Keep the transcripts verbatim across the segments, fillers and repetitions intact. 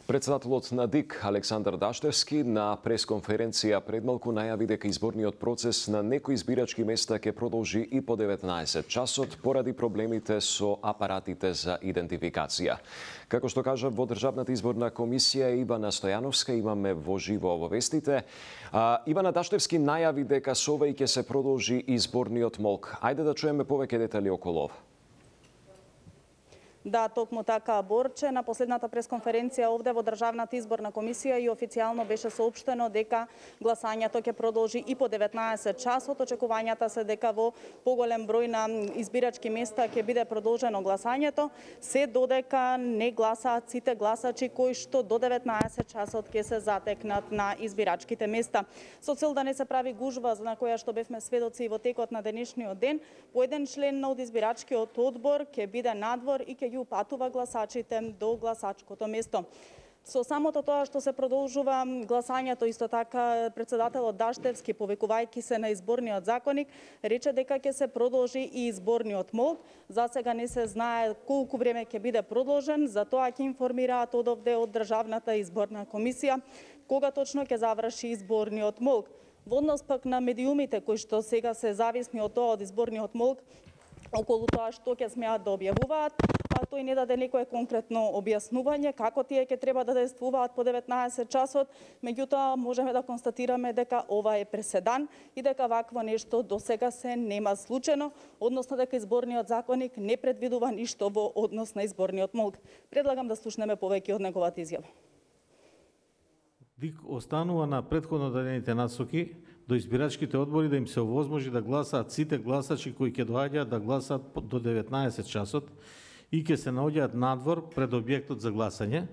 Председателот на ДИК Александар Даштевски на пресконференција предмалку најави дека изборниот процес на некои избирачки места ќе продолжи и по деветнаесет часот поради проблемите со апаратите за идентификација. Како што кажа во Државната изборна комисија Ивана Стојановска, имаме во живо обвестите. А, Ивана Даштевски најави дека со ова и ќе се продолжи изборниот молк. Ајде да чуеме повеќе детали околу ова. Да, токму така, Борче, на последната пресконференција овде во Државната изборна комисија и официјално беше соопштено дека гласањето ќе продолжи и по деветнаесет часот. Очекувањата се дека во поголем број на избирачки места ќе биде продолжено гласањето, се додека не гласаат сите гласачи кои што до деветнаесет часот ќе се затекнат на избирачките места. Со цел да не се прави гужва на која што бевме сведоци во текот на денешниот ден, по еден член од избирачкиот одбор ќе биде надвор и ќе ги упатува гласачите до гласачкото место. Со самото тоа што се продолжува гласањето, исто така председателот Даштевски, повикувајќи се на изборниот законник, рече дека ќе се продолжи и изборниот молк. За сега не се знае колку време ќе биде продолжен, затоа ќе информираат одовде од Државната изборна комисија кога точно ќе заврши изборниот молк. Во однос пак на медиумите кои што сега се зависни од тоа од изборниот молк, околу тоа што ќе смеат да објавуваат, а тој не даде некое конкретно објаснување како тие ќе треба да действуваат по деветнаесет часот, меѓутоа можеме да констатираме дека ова е преседан и дека вакво нешто до сега се нема случено, односно дека изборниот законник не предвидува ништо во однос на изборниот молк. Предлагам да слушнеме повеќе од неговата изјава. ДИК останува на претходно дадените насоки до избирачките одбори да им се овозможи да гласаат сите гласачи кои ќе доаѓаат да гласаат до деветнаесет часот и ќе се наоѓаат надвор пред објектот за гласање.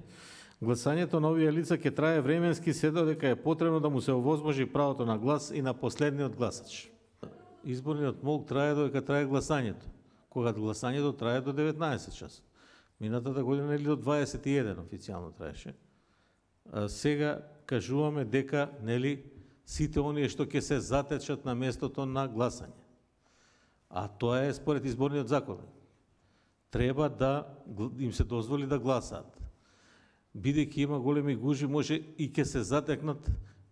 Гласањето на овие лица ќе трае временски се додека е потребно да му се овозможи правото на глас и на последниот гласач. Изборниот молк трае додека трае гласањето, кога гласањето трае до деветнаесет часот. Минатата година или до дваесет и еден официјално траеше. А сега кажуваме дека нели сите оние што ќе се затечат на местото на гласање. А тоа е според изборниот закон. Треба да им се дозволи да гласаат. Бидејќи има големи гужви, може и ќе се затекнат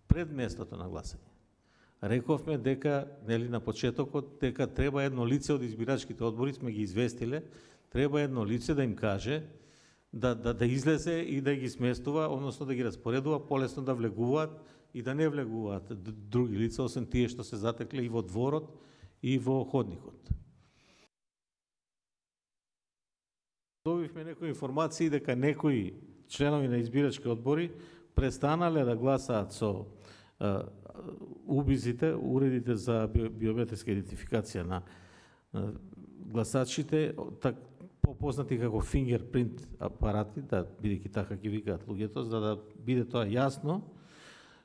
пред местото на гласање. Рековме дека нели на почетокот дека треба едно лице од избирачките одбори, сме ги известиле, треба едно лице да им каже да да да излезе и да ги сместува, односно да ги распоредува полесно да влегуваат и да не влегуваат други лица, освен тие што се затекле и во дворот и во ходникот. Добивме некои информации дека некои членови на избирачки одбори престанале да гласаат со убизите, уредите за биометриска идентификација на гласачите, так попознати како фингерпринт апарати, да бидејќи така ги викаат луѓето, за да биде тоа јасно.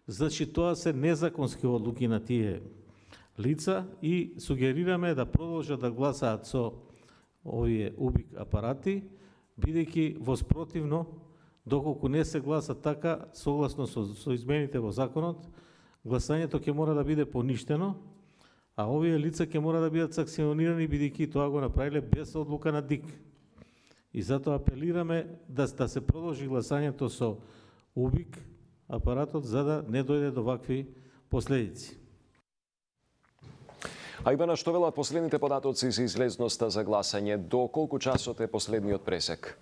Значи тоа се незаконски одлуки на тие лица и сугерираме да продолжат да гласаат со овие убик апарати, бидејќи воспротивно, доколку не се гласа така, согласно со, со измените во законот, гласањето ќе мора да биде поништено, а овие лица ќе мора да бидат санкционирани, бидејќи тоа го направиле без одлука на ДИК. И затоа апелираме да, да се продолжи гласањето со убик апаратот, за да не дојде до вакви последици. А Ивана, што велат последните податоци за излезноста за гласање? До колку часот е последниот пресек?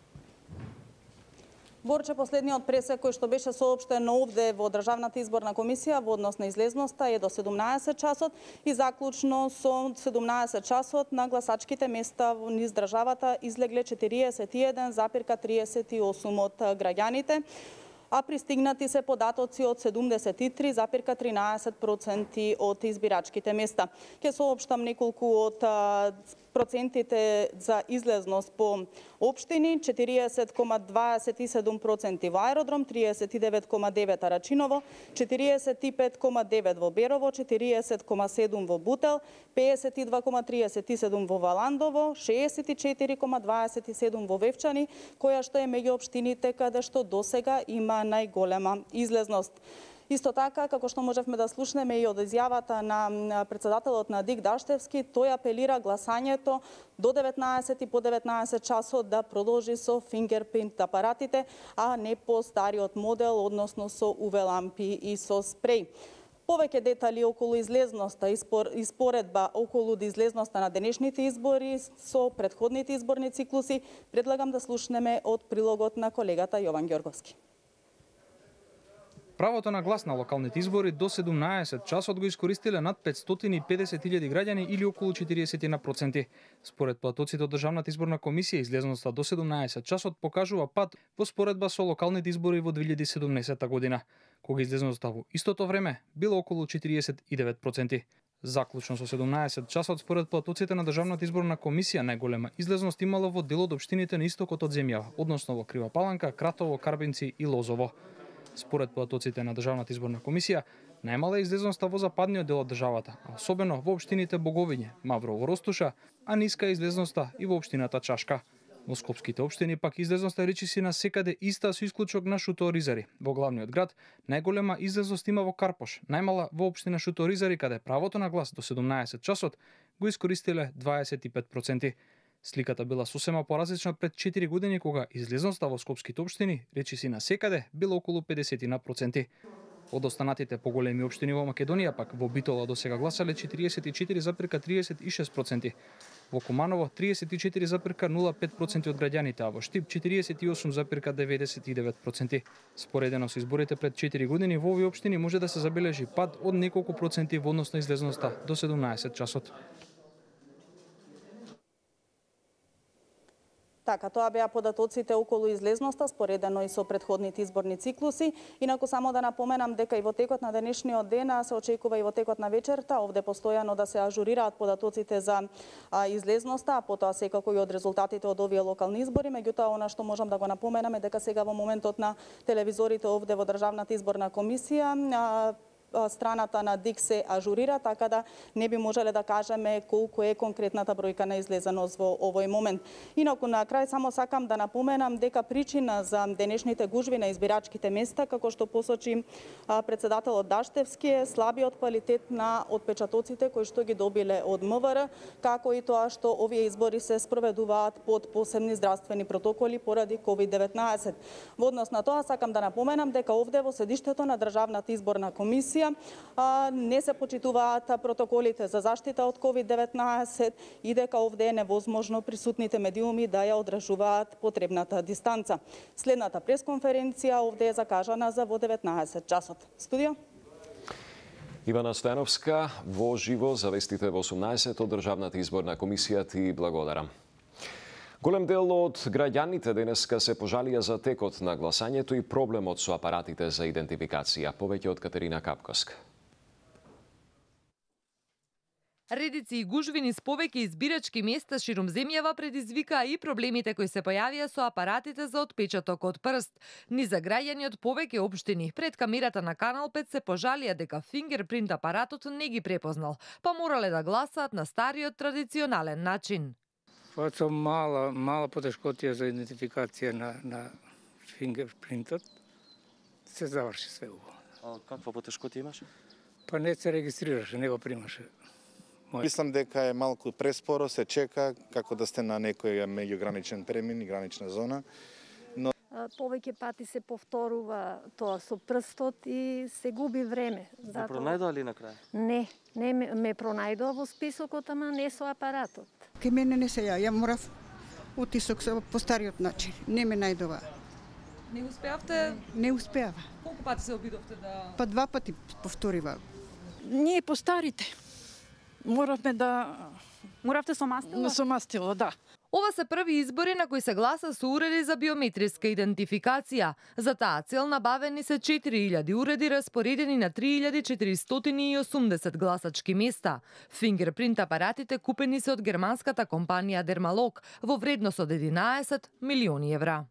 Борче, последниот пресек кој што беше соопштен овде во Државната изборна комисија во однос на излезноста е до седумнаесет часот и заклучно со седумнаесет часот на гласачките места низ државата излегле четириесет и еден запирка триесет и осум од граѓаните, а пристигнати се податоци од седумдесет и три запирка тринаесет проценти од избирачките места. Ќе соопштам неколку од процентите за излезност по општини: четириесет кома дваесет и седум проценти во Аеродром, триесет и девет кома девет Рачиново, четириесет и пет кома девет во Берово, четириесет кома седум во Бутел, пеесет и два кома триесет и седум во Валандово, шеесет и четири кома дваесет и седум во Вевчани, која што е меѓу општините каде што досега има најголема излезност. Исто така, како што можевме да слушнеме и од изјавата на председателот на ДИК Даштевски, тој апелира гласањето до деветнаесет и по деветнаесет часот да продолжи со фингерпринт апаратите, а не по стариот модел, односно со УВ лампи и со спреј. Повеќе детали околу излезноста и споредба околу излезноста на денешните избори со претходните изборни циклуси, предлагам да слушнеме од прилогот на колегата Јован Ѓорговски. Правото на глас на локалните избори до седумнаесет часот го искористиле над петстотини и педесет илјади граѓани или околу четириесет проценти. Според платоците од Државната изборна комисија, излезноста до седумнаесет часот покажува пад во споредба со локалните избори во две илјади и седумнаесета година, кога излезноста во истото време било околу четириесет и девет проценти. Заклучно со седумнаесет часот според платоците на Државната изборна комисија најголема излезност имало во дел од општините на истокот од земјава, односно во Крива Паланка, Кратово, Карбинци и Лозово. Според платоците на Државната изборна комисија, најмала излезноста во западниот дел од државата, а особено во општините Боговиње, Маврово, Ростуша, а ниска излезноста и во општината Чашка. Во скопските општини пак излезноста речиси на секаде иста со исклучок на Шуто-Оризари. Во главниот град најголема излезност има во Карпош, најмала во општина Шуто-Оризари, каде правото на глас до седумнаесет часот го искористиле дваесет и пет проценти. Сликата била сосема поразлична пред четири години, кога излезноста во скопските општини речиси на секаде била околу педесет проценти. Од останатите поголеми општини во Македонија пак во Битола до сега гласале четириесет и четири запирка триесет и шест проценти. Во Куманово триесет и четири запирка нула пет проценти од граѓаните, а во Штип четириесет и осум запирка деветдесет и девет проценти. Споредено со изборите пред четири години во овие општини може да се забележи пад од неколку проценти во однос на излезноста до седумнаесет часот. Така, тоа беа податоците околу излезноста, споредено и со претходните изборни циклуси. Инаку само да напоменам дека и во текот на денешниот ден, се очекува и во текот на вечерта, овде постојано да се ажурираат податоците за а, излезноста, а потоа секако и од резултатите од овие локални избори. Меѓутоа, она што можам да го напоменам е дека сега во моментот на телевизорите овде во Државната изборна комисија, а, страната на ДИК се ажурира, така да не би можеле да кажеме колку е конкретната бројка на излезеност во овој момент. Инаку на крај само сакам да напоменам дека причина за денешните гужви на избирачките места, како што посочи председателот Даштевски, е слабиот квалитет на отпечатоците кои што ги добиле од МВР, како и тоа што овие избори се спроведуваат под посебни здравствени протоколи поради ковид деветнаесет. Во однос на тоа сакам да напоменам дека овде во седиштето на Државната изборна комисија не се почитуваат протоколите за заштита од ковид деветнаесет и дека овде е невозможно присутните медиуми да ја одржуваат потребната дистанца. Следната пресконференција овде е закажана за во деветнаесет часот. Студио? Ивана Стојановска, во живо за вестите во осумнаесет од Државната изборна комисија, ти благодарам. Голем дел од граѓаните денеска се пожалија за текот на гласањето и проблемот со апаратите за идентификација. Повеќе од Катерина Капковска. Редици и гужви низ повеќе избирачки места ширум земјава предизвикаа и проблемите кои се појавија со апаратите за отпечаток од прст. Низ за граѓани од повеќе општини пред камерата на Канал пет се пожалија дека фингерпринт апаратот не ги препознал, па морале да гласаат на стариот традиционален начин. Тоа со мала, мала потешкотија за идентификација на, на фингерпринтот, се заврши све убаво. А каква потешкотија имаше? Па не се регистрираше, не го примаше. Мој... Мислам дека е малку преспоро, се чека како да сте на некој меѓуграничен премин и гранична зона. Но... Повеќе пати се повторува тоа со прстот и се губи време. Се пронајдоа ли на крај? Не, не ме, ме пронајдоа во списокот, ама не со апаратот. Ке мене не се ја, ја морав утисок по стариот начин. Не ме најдова. Не успеавте? Не успеава. Колку пати се обидовте да... Па два пати повторива. Ние по старите. Моравме да... Моравте со мастило? Со мастило, да. Ова се први избори на кои се гласа со уреди за биометриска идентификација. За таа цел набавени се четири илјади уреди распоредени на три илјади четиристотини и осумдесет гласачки места. Фингерпринт апаратите купени се од германската компанија Дермалог во вредност од единаесет милиони евра.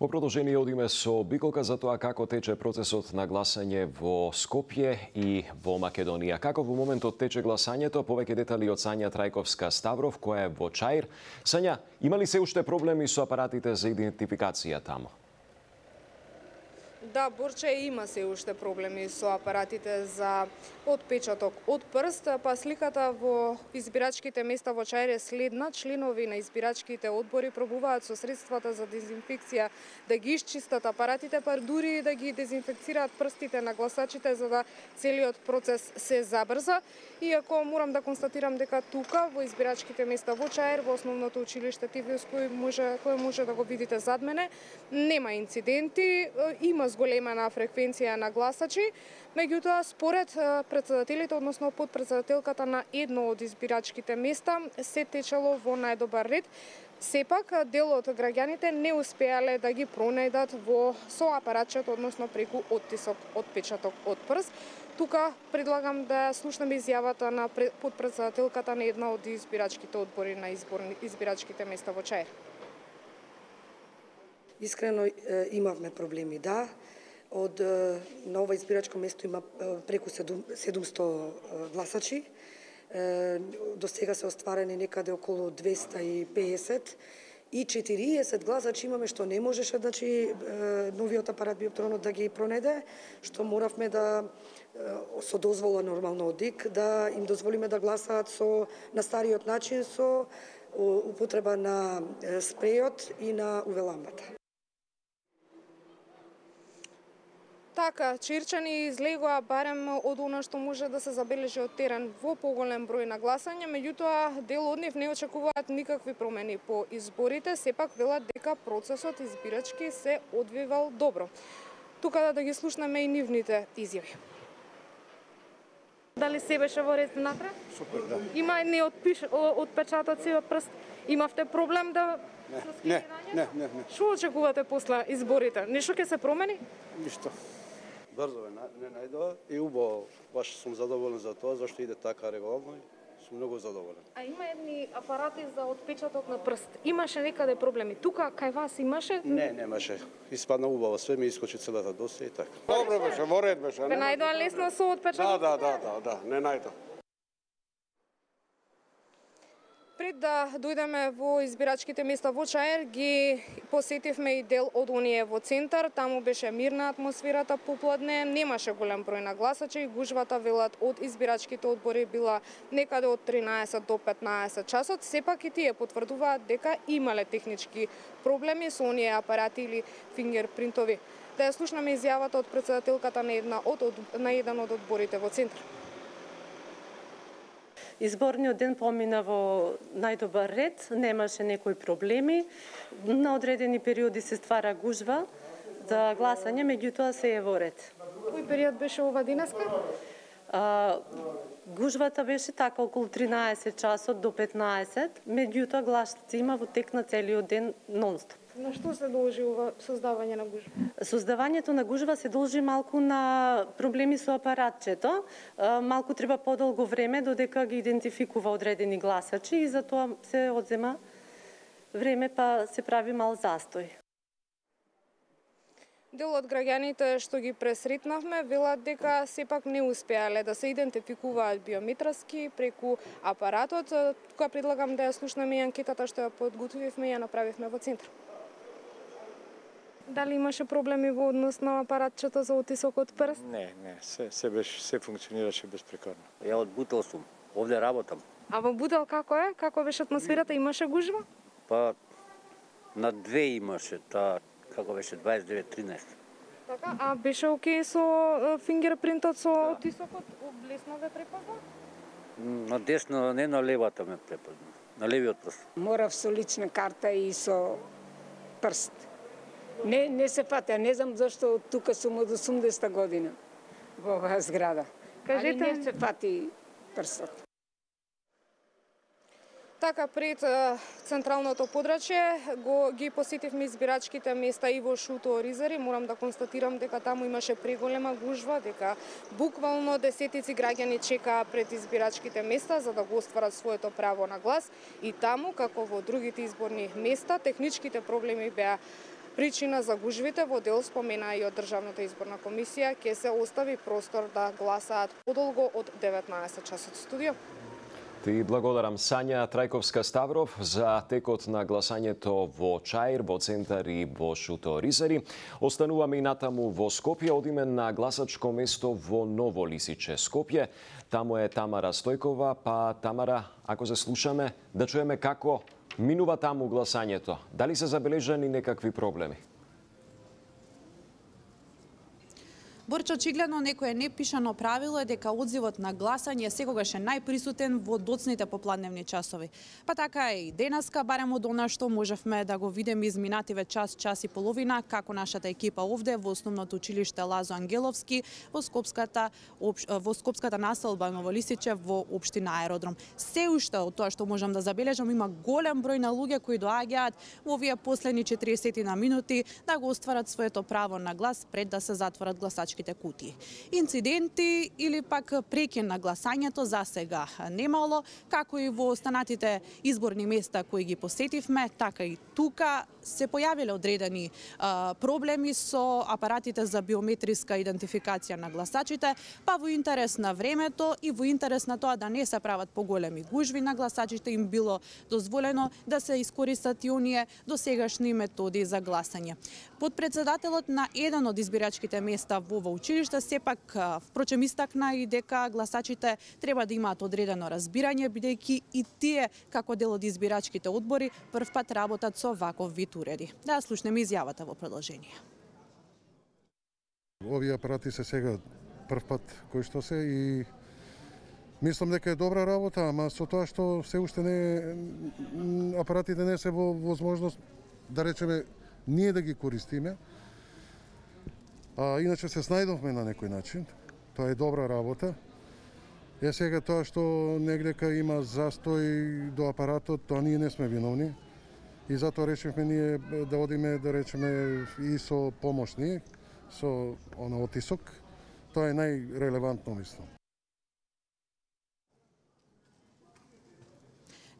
Во продолжение одиме со Биколка за тоа како тече процесот на гласање во Скопје и во Македонија. Како во моментот тече гласањето, повеќе детали од Сања Трајковска Ставров, која е во Чаир. Сања, има ли се уште проблеми со апаратите за идентификација таму? Да, Борче има се уште проблеми со апаратите за отпечаток од прст, па сликата во избирачките места во Чаир е следна. Членови на избирачките одбори пробуваат со средствата за дезинфекција да ги исчистат апаратите, па дури да ги дезинфекцираат прстите на гласачите за да целиот процес се забрза. Иако морам да констатирам дека тука во избирачките места во Чаир, во основното училиште Тивиус, кој може кој може да го видите зад мене, нема инциденти, има зголемена фреквенција на гласачи, меѓутоа според претседателите, односно подпредседателката на едно од избирачките места, се течело во најдобар ред. Сепак, дел од граѓаните не успеале да ги пронајдат во со апаратчето, односно преку оттисок, отпечаток од прст. Тука предлагам да слушнеме изјавата на подпредседателката на една од избирачките одбори на изборни, избирачките места во Чаир. Искрено имавме проблеми, да. Од на ова избирачко место има преку седумсто гласачи. До сега се остварени некаде околу двеста и пеесет и четириесет гласачи имаме што не можеше, значи новиот апарат биопатронот да ги пронеде, што моравме да со дозвола нормално од ДИК да им дозволиме да гласаат со на стариот начин со употреба на спрејот и на УВ лампата. Така, чаирчани излегоа барем од она што може да се забележи од терен во поголем број на гласање, меѓутоа дел од нив не очекуваат никакви промени по изборите, сепак велат дека процесот избирачки се одвивал добро. Тука да ги слушнеме и нивните изјави. Дали се беше во ред напред? Супер, да. Има не отпиш, отпечатоци од прст. Имавте проблем да Не, не, не, не. Што очекувате после изборите? Нешто ќе се промени? Ништо. Брзо не најдоа и убаво, баш сум задоволен за тоа, зашто иде така регуларно и сум многу задоволен. А има едни апарати за отпечаток на прст. Имаше некаде проблеми. Тука кај вас имаше? Не, немаше. Испадна убаво, све ми искочи целата досија и така. Добро беше, во ред беше. Ве најдоа лесно со отпечаток? Да, да, да, да, да, не најдоа. Пред да дојдеме во избирачките места во Чаир, ги посетивме и дел од оние во центар. Таму беше мирна атмосферата попладне, немаше голем број на гласачи. Гужвата, велат, од избирачките одбори била некаде од тринаесет до петнаесет часот. Сепак и тие потврдуваат дека имале технички проблеми со оние апарати или фингерпринтови. Да ја слушнеме изјавата од претседателката на една од, од на еден од одборите во центар. Изборниот ден помина во најдобар ред, немаше некои проблеми. На одредени периоди се ствара гужва за гласање, меѓутоа се е во ред. Кој период беше ова денеска? А, гужвата беше така околу тринаесет часот до петнаесет, меѓутоа гласаци има во тек на целиот ден нон-стоп. На што се должи ова создавање на гужва? Создавањето на гужва се должи малку на проблеми со апаратчето. Малку треба подолго време додека ги идентификува одредени гласачи и затоа се одзема време, па се прави мал застој. Дел од граѓаните што ги пресретнавме велат дека сепак не успеале да се идентификуваат биометриски преку апаратот. Тука предлагам да ја слушнеме и анкетата што ја подготвивме и ја направивме во центар. Дали имаше проблеми во однос на апаратчето за отисок од прст? Не, не, се, се, беше, се функционираше безпрекорно. Ја од Бутел сум, овде работам. А во Бутел како е? Како беше атмосферата? Имаше гужва? Па, на две имаше, таа, како беше, дваесет и девет тринаесет. Така, а беше окей со фингерпринтот, со да. Отисокот? Лесно ве препозна? На десно, не на левата ме препозна, на левиот прст. Морав со лична карта и со прст. Не, не се фатеа, не знам зашто тука сум од осумдесета година во оваа зграда. Кажете, али не се фати прстот. Така, пред централното подрачје го ги посетивме избирачките места и во Шуто Ризари. Морам да констатирам дека таму имаше преголема гужва, дека буквално десетици граѓани чекаа пред избирачките места за да го остварат своето право на глас. И таму, како во другите изборни места, техничките проблеми беа причина за гужвите. Во дел спомена и од Државната изборна комисија, ќе се остави простор да гласаат подолго од деветнаесет часот. Студио. Ти благодарам Сања Трајковска-Ставров за текот на гласањето во Чаир, во Центар и во Шуто Ризари. Остануваме и натаму во Скопје, одиме на гласачко место во Ново Лисиче, Скопје. Таму е Тамара Стојкова, па Тамара, ако се слушаме, да чуеме како минува таму гласањето. Дали се забележани некакви проблеми? Борче, очигледно некое непишано правило е дека одзивот на гласање секогаш е најприсутен во доцните попладневни часови. Па така е и денеска, барем од она што можевме да го видиме изминативе час, час и половина, како нашата екипа овде во основното училиште Лазо Ангеловски, во Скопската, во Скопската населба Ново Лисиче, во општина Аеродром. Се уште од тоа што можам да забележам, има голем број на луѓе кои доаѓаат во овие последни четириесет на минути да го остварат своето право на глас пред да се затворат гласачки кутии. Инциденти или пак прекин на гласањето за сега немало, како и во останатите изборни места кои ги посетивме, така и тука се појавиле одредени а, проблеми со апаратите за биометриска идентификација на гласачите, па во интерес на времето и во интерес на тоа да не се прават поголеми гужви на гласачите, им било дозволено да се искористат и оние досегашни методи за гласање. Подпредседателот на еден од избирачките места во ова училиште сепак впрочем истакна и дека гласачите треба да имаат одредено разбирање, бидејќи и тие како дел од избирачките одбори првпат работат со ваков вид уреди. Да слушнеме изјавата во продолжение. Овие апарати се сега првпат кои што се и мислам дека е добра работа, ама со тоа што се уште не апаратите не се во возможност да речеме ние да ги користиме. А иначе се снајдовме на некој начин. Тоа е добра работа. Е сега тоа што негдека има застој до апаратот, тоа ние не сме виновни. И затоа решивме ние да одиме, да речеме, и со помошни, со она отисок. Тоа е најрелевантно, мислам.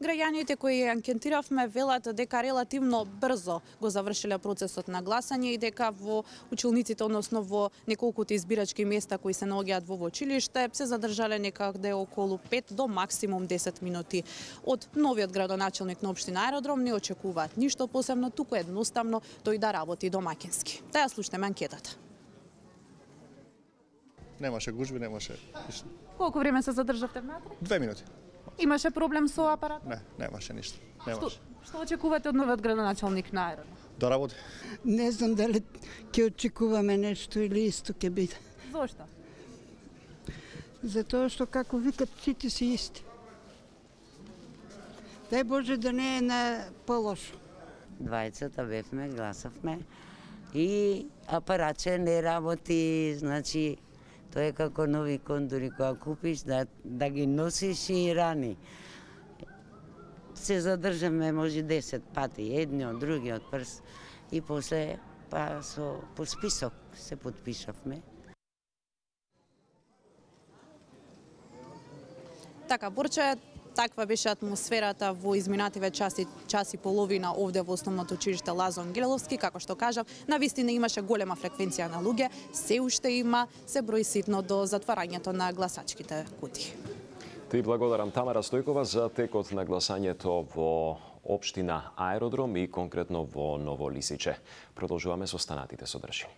Граѓаните кои анкетиравме велат дека релативно брзо го завршиле процесот на гласање и дека во училниците, односно во неколкуте избирачки места кои се наоѓаат во училиште, се задржале некаде околу пет до максимум десет минути. Од новиот градоначелник на општина Аеродром не очекуваат ништо посебно, туку едноставно тој да работи домакински. Да ја слушнеме анкетата. Немаше гужби, немаше. Колку време се задржавте внатре? Две минути. Имаше проблем со апаратот? Не, немаше ништо. Немаше. Што, што очекувате од новиот градоначелник на Аеродром? Да работи. Не знам дали ќе очекуваме нешто или исто ќе биде. Зошто? Затоа што како викат сите си исти. Дај Боже да не е на полошо. Двајцата бевме, гласавме и апаратче не работи, значи тоа е како нови кондори која купиш да, да ги носиш и рани. Се задржаме може десет пати, едниот, другиот прст и после па со по список се подпишавме. Така, Борче, таква беше атмосферата во изминативе часи, час и половина овде во основното училиште Лазо Ангеловски. Како што кажав, навистина имаше голема фреквенција на луѓе, се уште има, се брои ситно до затварањето на гласачките кутии. Ти благодарам Тамара Стојкова за текот на гласањето во општина Аеродром и конкретно во Ново Лисиче. Продолжуваме со останатите содржини.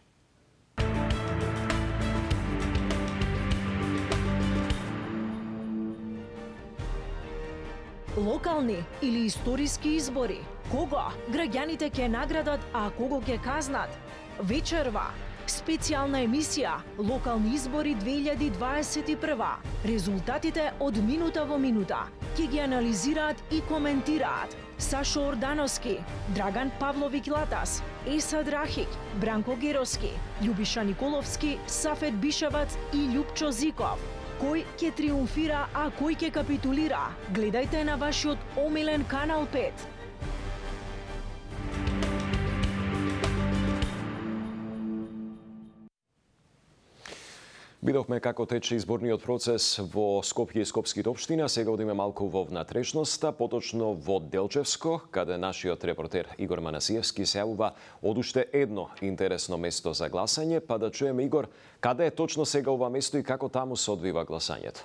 Локални или историски избори? Кого граѓаните ќе наградат, а кого ќе казнат? Вечерва. Специјална емисија Локални избори две илјади дваесет и прва. Резултатите од минута во минута ќе ги анализираат и коментираат Сашо Ордановски, Драган Павловик Латас, Еса Драхик, Бранко Героски, Љубиша Николовски, Сафет Бишевац и Љупчо Зиков. Кој ќе триумфира, а кој ќе капитулира? Гледајте на вашиот омилен Канал пет. Видовме како тече изборниот процес во Скопје и скопските општина. Сега одиме малку во внатрешноста, поточно во Делчевско, каде нашиот репортер Игор Манасиевски се јавува од уште едно интересно место за гласање, па да чуеме Игор, каде е точно сега ова место и како таму се одвива гласањето?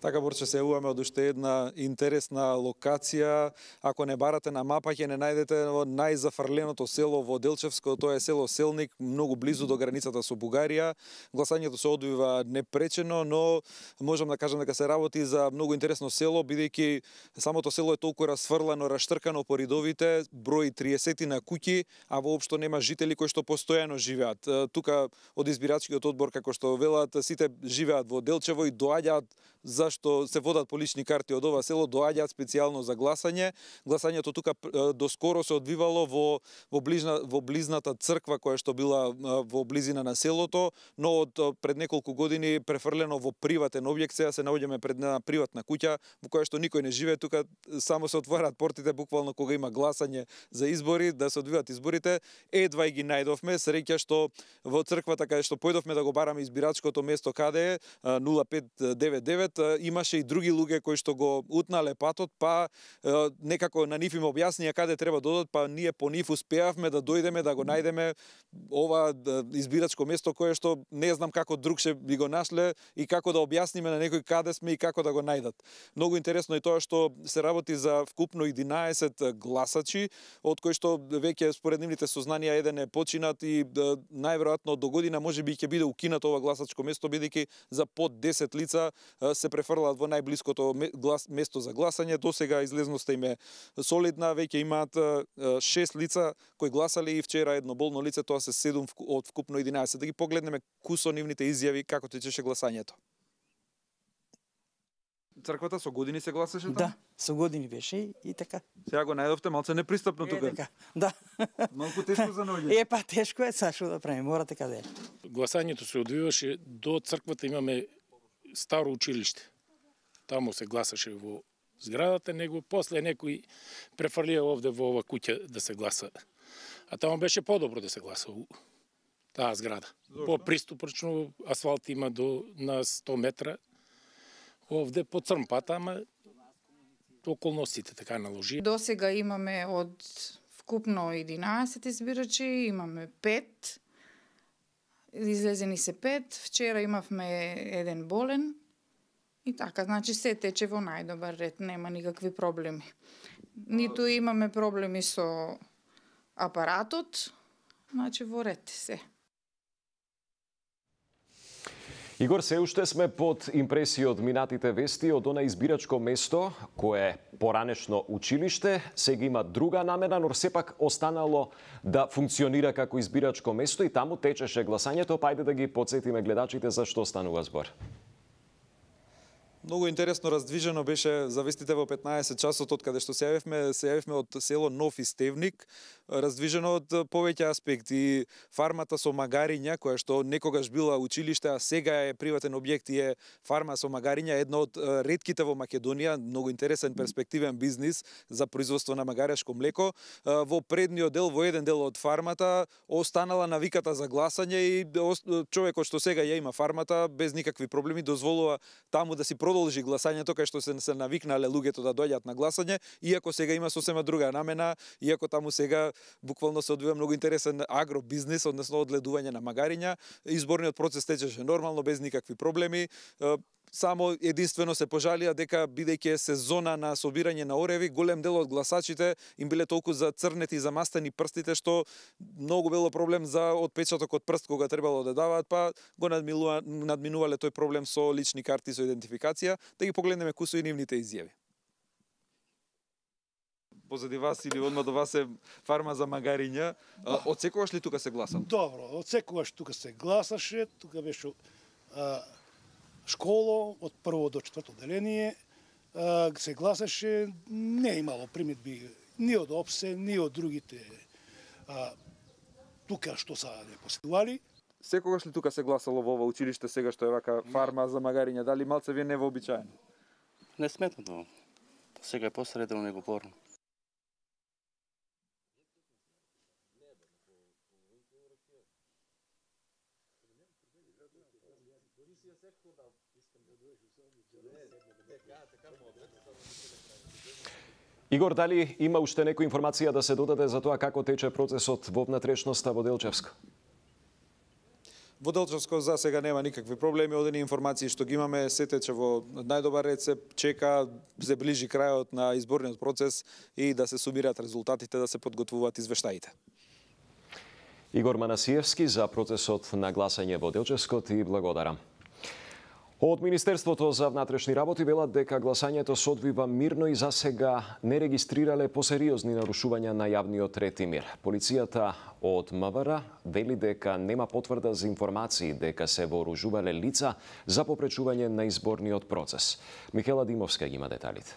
Така, Борче, се јавуваме од уште една интересна локација. Ако не барате на мапа, ќе не најдете во најзафрленото село во Делчевско, тоа е село Селник, многу близу до границата со Бугарија. Гласањето се одвива непречено, но можам да кажам дека се работи за многу интересно село, бидејќи самото село е толку расфрлано, раштркано по ридовите, брои триесет на куќи, а воопшто нема жители кои што постојано живеат. Тука од избирачкиот одбор, како што велат, сите живеат во Делчево и доаѓаат зашто се водат по лични карти од ова село, доаѓаат специјално за гласање. Гласањето тука доскоро се одвивало во во близна во близната црква која што била во близина на селото, но од пред неколку години префрлено во приватен објект. Сега се наоѓаме пред една приватна куќа во која што никој не живее. Тука само се отвораат портите буквално кога има гласање за избори, да се одвиваат изборите. Едва и ги најдовме. Среќа што во црквата каде што појдовме да го бараме избирачкото место каде е нула пет девет девет, имаше и други луѓе кои што го утнале патот, па некако на нив им објаснија каде треба да одат, па ние по нив успеавме да дојдеме да го најдеме ова избирачко место кое што не знам како другше би го нашле и како да објасниме на некој каде сме и како да го најдат. Многу интересно е тоа што се работи за вкупно единаесет гласачи, од кои што веќе според нивните сознанија еден е починат и најверојатно до година можеби ќе биде укинато ова гласачко место, бидејќи за под десет лица се префрлаат во најблиското место за гласање. До сега излезноста им е солидна, веќе имаат шест лица кои гласале и вчера едно болно лице, тоа се седум од вкупно единаесет. Да ги погледнеме кусо нивните изјави како течеше гласањето. Црквата со години се гласаше таму? Да, со години беше и така. Сега го најдовте малце непристапно тука. Е, така, да. Малку тешко за ноѓе. Е, па тешко е, са што да правиме, морате каде. Гласањето се одвиваше до црквата, имаме старо училиште. Таму се гласаше во зградата, него после некој префрлија овде во ова куќа да се гласа. А таму беше подобро да се гласа у таа зграда. По-приступрачно, асфалт има до на сто метра. Овде по црн пат, ама околностите така наложи. До сега имаме од вкупно единаесет избирачи, имаме пет. Излезени се пет, вчера имавме еден болен и така, значи се тече во најдобар ред, нема никакви проблеми. Ниту имаме проблеми со апаратот, значи во ред се. Игор, се уште сме под импресија од минатите вести од она избирачко место, кое е поранешно училиште, сега има друга намена, но сепак останало да функционира како избирачко место и таму течеше гласањето, па ајде да ги потсетиме гледачите за што станува збор. Многу интересно раздвижено беше за вестите во петнаесет часот од каде што се јавивме, се јавивме од село Нов Истевник, раздвижено од повеќе аспекти. Фармата со магариња, која што некогаш била училиште, а сега е приватен објект и е фарма со магариња, едно од ретките во Македонија, многу интересен перспективен бизнис за производство на магарешко млеко. Во предниот дел, во еден дел од фармата, останала навиката за гласање и човекот што сега ја има фармата без никакви проблеми дозволува таму да си продолжи гласањето, кај што се, се навикнале луѓето да доаѓаат на гласање, иако сега има сосема друга намена, иако таму сега буквално се одвива многу интересен агробизнис, односно одледување на магариња. Изборниот процес течеше нормално, без никакви проблеми. Само единствено се пожалија дека бидејќи е сезона на собирање на ореви, голем дел од гласачите им биле толку зацрнети и замастени прстите што многу било проблем за отпечаток од прст кога требало да даваат, па го надминувале тој проблем со лични карти со идентификација. Да ги погледнеме кои се и нивните изјави. Позади вас или одма до вас е фарма за магариња. Од секогаш ли тука се гласа? Добро, од секогаш тука се гласаше, тука беше а, школа од прво до четврто деление, а, се гласаше, не имало примедби ни од ОПСЕ, ни од другите а, тука што са не посетували. Секогаш ли тука се гласало во ова училиште сега што е вака фарма за магариња? Дали малце ви е невообичаено? Не сметно. Сега е посредено него порно. Игор, дали има уште некоја информација да се додаде за тоа како тече процесот во внатрешноста во Делчевско? Во Делчевско за сега нема никакви проблеми, одени информации што ги имаме, се тече во најдобар ред, се чека, се ближи крајот на изборниот процес и да се сумираат резултатите, да се подготвуваат извештаите. Игор Манасиевски за процесот на гласање во Делчевско ти благодарам. Од Министерството за внатрешни работи велат дека гласањето се одвива мирно и засега не регистрирале посериозни нарушувања на јавниот ред и мир. Полицијата од МВР вели дека нема потврда за информации дека се вооружувале лица за попречување на изборниот процес. Михела Димовска ги има деталите.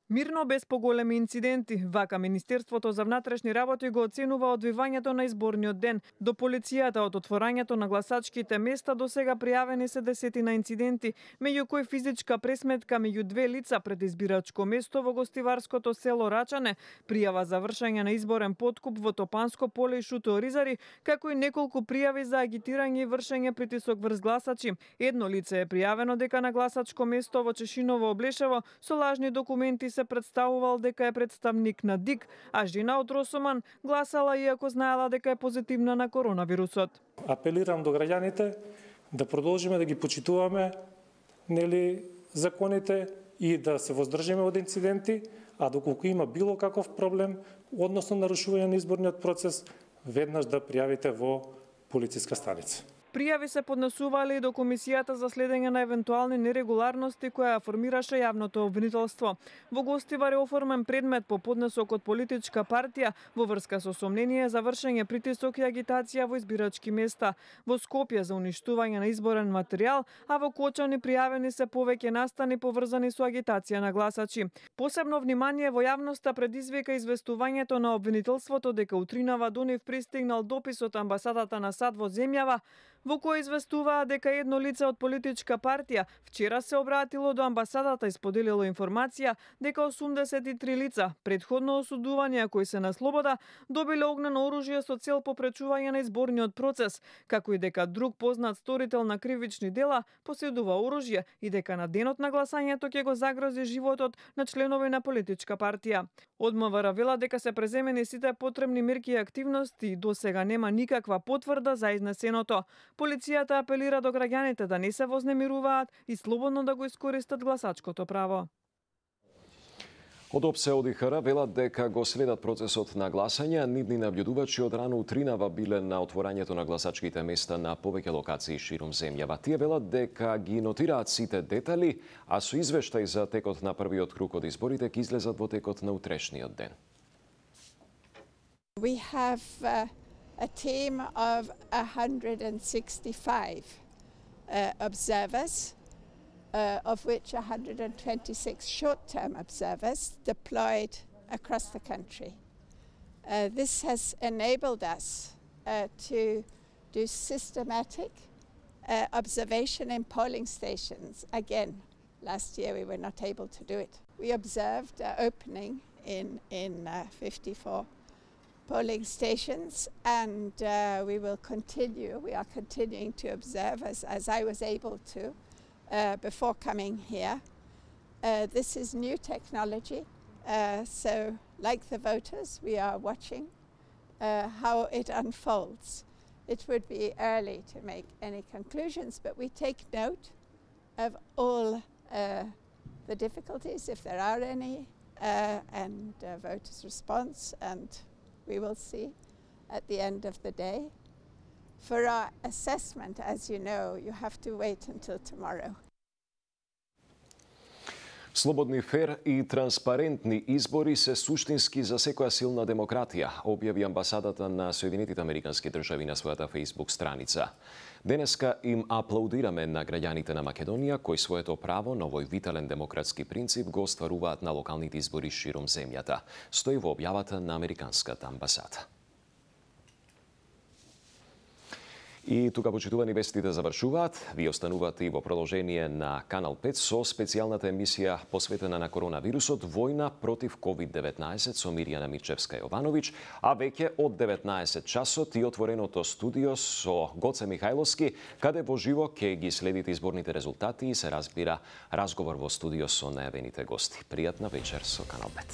Мирно без поголеми инциденти, вака Министерството за внатрешни работи го оценува одвивањето на изборниот ден. До полицијата од отворањето на гласачките места до сега пријавени се десетина инциденти, меѓу кои физичка пресметка меѓу две лица пред избирачко место во гостиварското село Рачане, пријава за вршење на изборен подкуп во Топанско поле и Шуто Оризари, како и неколку пријави за агитирање и вршење притисок врз гласачи. Едно лице е пријавено дека на гласачко место во Чешиново Облешево со лажни документи се представувал дека е представник на ДИК, а жена од Росоман гласала иако знаела дека е позитивна на коронавирусот. Апелирам до граѓаните да продолжиме да ги почитуваме нели законите и да се воздржиме од инциденти, а доколку има било каков проблем, односно нарушување на изборниот процес, веднаш да пријавите во полициска станица. Пријави се поднесувале и до Комисијата за следење на евентуални нерегуларности која формираше јавното обвинителство. Во Гостивар е оформен предмет по поднесок од политичка партија во врска со сомнение за вршење притисок и агитација во избирачки места. Во Скопје за уништување на изборен материјал, а во Кочани пријавени се повеќе настани поврзани со агитација на гласачи. Посебно внимание во јавноста предизвика известувањето на обвинителството дека утринава до нив пристигнал допис од амбасадата на САД во земјава, во кој известуваа дека едно лице од политичка партија вчера се обратило до амбасадата и споделило информација дека осумдесет и три лица, предходно осудувани а кои се на слобода, добиле огнено оружје со цел попречување на изборниот процес, како и дека друг познат сторител на кривични дела поседува оружје и дека на денот на гласањето ќе го загрози животот на членови на политичка партија. Од МВР вела дека се преземени сите потребни мерки и активности и до сега нема никаква потврда за изнесеното. Полицијата апелира до граѓаните да не се вознемируваат и слободно да го искористат гласачкото право. Од ОПСЕ од И Х Р велат дека го следат процесот на гласање, а нивни наблюдувачи од рано утринава биле на отворањето на гласачките места на повеќе локации ширум земјава. Тие велат дека ги нотираат сите детали, а со извештај за текот на првиот круг од изборите ќе излезат во текот на утрешниот ден. We have uh... a team of one hundred sixty-five uh, observers, uh, of which one hundred twenty-six short-term observers deployed across the country. Uh, this has enabled us uh, to do systematic uh, observation in polling stations. Again, last year we were not able to do it. We observed uh, opening in, in uh, fifty-four polling stations, and uh, we will continue. We are continuing to observe as, as I was able to uh, before coming here. Uh, this is new technology, uh, so like the voters, we are watching uh, how it unfolds. It would be early to make any conclusions, but we take note of all uh, the difficulties, if there are any, uh, and uh, voters' response, and we will see at the end of the day. For our assessment, as you know, you have to wait until tomorrow. Слободни, фер и транспарентни избори се суштински за секоја силна демократија, објави амбасадата на Соединетите Американски држави на својата Facebook страница. Денеска им аплаудираме на граѓаните на Македонија, кои своето право на овој витален демократски принцип го остваруваат на локалните избори широм земјата, стои во објавата на Американската амбасада. И тука, почитувани, вестите завршуваат. Ви останувате и во продолжение на Канал пет со специјалната емисија посветена на коронавирусот «Војна против ковид деветнаесет» со Мирјана Мирчевска-Јовановиќ, а веќе од деветнаесет часот и отвореното студио со Гоце Михајловски, каде во живо ќе ги следите изборните резултати и се разбира разговор во студио со најавените гости. Пријатна вечер со Канал пет.